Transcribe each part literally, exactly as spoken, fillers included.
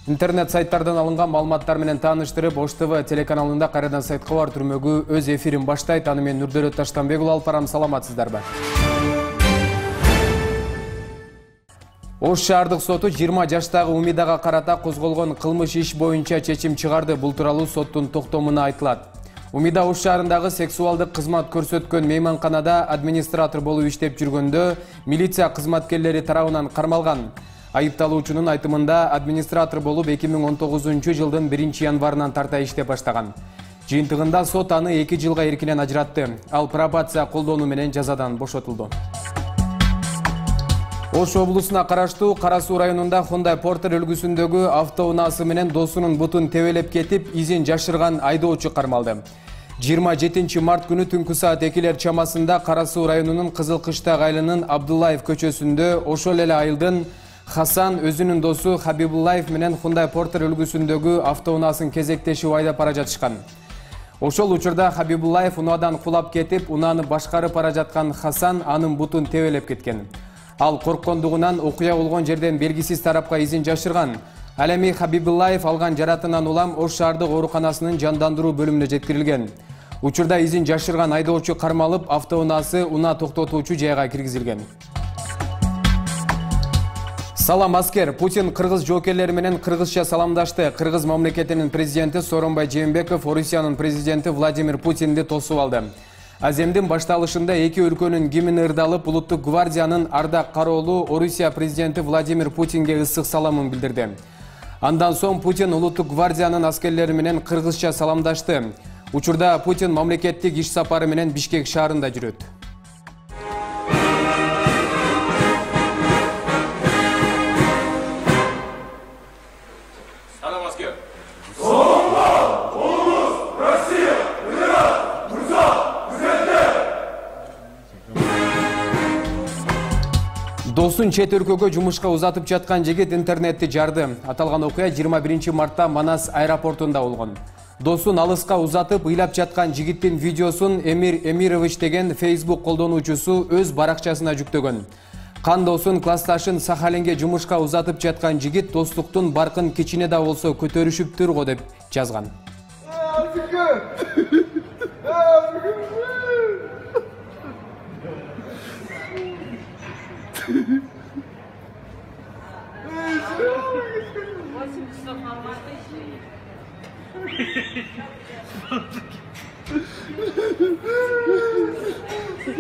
Интернет сайттардан алынган маалыматтар менен тааныштырып, Ош ТВ телеканалында кайрадан сайтка бар түрмөгү өз эфирин баштайт. Аны мен Нурдөлөт Таштанбек алып барам. Саламатсыздарбы? Ош шаардык соту жыйырма жаштагы Умидага карата козголгон кылмыш иш боюнча чечим чыгарды. Бул тууралуу соттун токтомуна айтылат. Умида Ош шаарындагы сексуалдык кызмат көрсөткөн мейманканада администратор болуп иштеп жүргөндө милиция кызматкерлери тарабынан кармалган. Айыпталуучунун айтымында администратор болуп эки миң он тогузунчу жылдын биринчи январынан тарта иштеп баштаган. Жыйынтыгында сот аны эки жылга эркинен ажыратты. Ал пробация колдонуу менен жазадан бошотулду. Ош облусуна караштуу Кара Суу районунда Hyundai Porter үлгүсүндөгү автоунаасы менен досунун бутун тебелеп кетип, изин жашырган айдоочу кармалды. жыйырма жетинчи март күнү түнкү саат экилер чамасында Кара Суу районунун Кызыл Кыштак айылынын Абдуллаев көчөсүндө ошол эле айылдын Хасан өзүнүн досу Хабибуллаев менен Hyundai Porter үлгүсүндөгү автоунаасын кезектешип айдап бара жатышкан. Ошол учурда Хабибуллаев унаадан кулап кетип, унааны башкарып бара жаткан Хасан анын бутун тебелеп кеткен. Ал корккондугунан окуя болгон жерден белгисиз тарапка изин жашырган. Ал эми Хабибуллаев алган жаратынан улам Ош шаардык ооруканасынын жандандыруу бөлүмүнө жеткирилген. Учурда изин жашырган айдоочу кармалып, автоунаасы унаа токтотуучу жайга киргизилген. Салам аскер. Путин кыргыз жоокерлери менен кыргызча саламдашты. Кыргыз мамлекетинин президенти Сооронбай Жээнбеков Орусиянын президенти Владимир Путинди тосуп алды. Аземдин башталышында эки өлкөнүн гимни ырдалып, улуттук гвардиянын ардак кароолу Орусия президенти Владимир Путинге ысык саламын билдирди. Андан соң Путин улуттук гвардиянын аскерлери менен кыргызча саламдашты. Учурда Путин мамлекеттик иш сапары менен Бишкек шаарында жүрөт. Досун чет өлкөгө жумушка узатып жаткан жигит интернетти жарды. Аталган окуя жыйырма биринчи мартта Манас аэропортунда болгон. Досун алыска узатып ыйлап жаткан жигиттин видеосун Эмир Эмирович деген Facebook колдонуучусу өз баракчасына жүктөгөн. Кандосун классташын Сахалинге жумушка узатып жаткан жигит достуктун баркын кичине да болсо көтөрүшүптүр го деп жазган.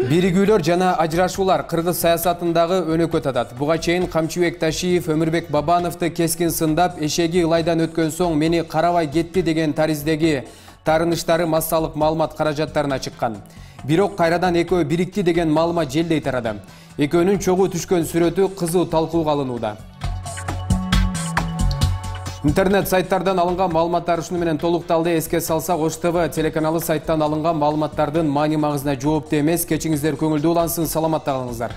Биригүүлөр жана ажырашуулар кыргыз саясатындагы өнөкөт атат. Буга чейин Камчыбек Ташиев Өмүрбек Бабановду кескин сындап, эшеги ылайдан өткөн соң мени карабай кетти деген тариздеги тарыныштары массалык маалымат каражаттарына чыккан. Бирок кайрадан экөө бирикти деген маалымат желдей тарады. Экөөнүн чогуу түшкөн сүрөтү кызуу талкууга алынууда. Интернет сайттардан алынган маалыматтар ушуну менен толукталды. Эске салсак, Ош ТВ телеканалы сайттан алынган маалыматтардын маани магызына жооптуу эмес. Кечиңиздер көңүлдүү улансын, саламатта калыңыздар.